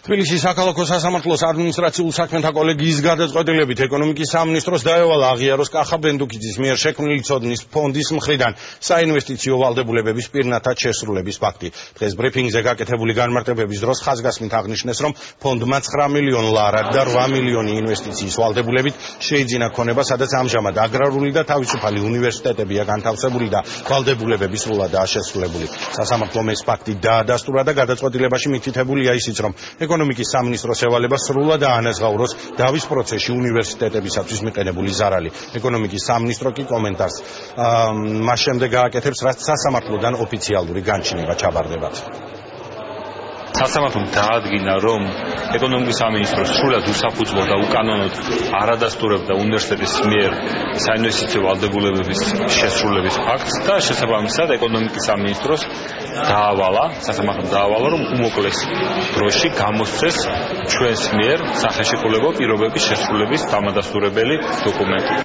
თბილისის საქალაქო სასამართლოს ადმინისტრაციულ საქმეთა კოლეგიის გადაწყვეტილებით ეკონომიკის სამინისტროს დაევალა აღიაროს კახა ბენდუკიძის მიერ შექმნილი ცოდნის ფონდის მხრიდან საინვესტიციო ვალდებულებების პირნათად შესრულების ფაქტი. დღეს ბრიფინგზე გაკეთებული განმარტებების დროს ხაზგასმით აღნიშნეს, რომ ფონდმა 9 მილიონ ლარად და 8 მილიონი ინვესტიციის ვალდებულებით შეიძინა ქონება, სადაც ამჟამად აგრარული და თავისუფალი უნივერსიტეტებია განთავსებული და ვალდებულებები სრულადაა შესრულებული. სასამართლომ ეს ფაქტი დაადასტურა და გადაწყვეტილებაში მითითებულია ისიც, რომ ეკონომიკის სამინისტროს ევალება სრულად აანაზღაუროს დავის პროცესში უნივერსიტეტებისათვის მიყენებული ზარალი. ეკონომიკის სამინისტრო კი კომენტარს მას შემდეგ გააკეთებს, რაც სასამართლოდან ოფიციალური განჩინება ჩაბარდებათ. სასამართლომ დაადგინა, რომ ეკონომიკის სამინისტრო სრულად უსაფუძვლო და უკანონოდ არ ადასტურებდა უნივერსიტეტის მიერ საინვესტიციო ვალდებულებების შესრულების ფაქტს და შესაბამისად ეკონომიკის სამინისტროს სასამართლომ დაავალა, რომ უმოკლეს დროში გამოსცეს ჩვენს მიერ სახეშეკრულებო პირობების შესრულების დამადასტურებელი დოკუმენტი.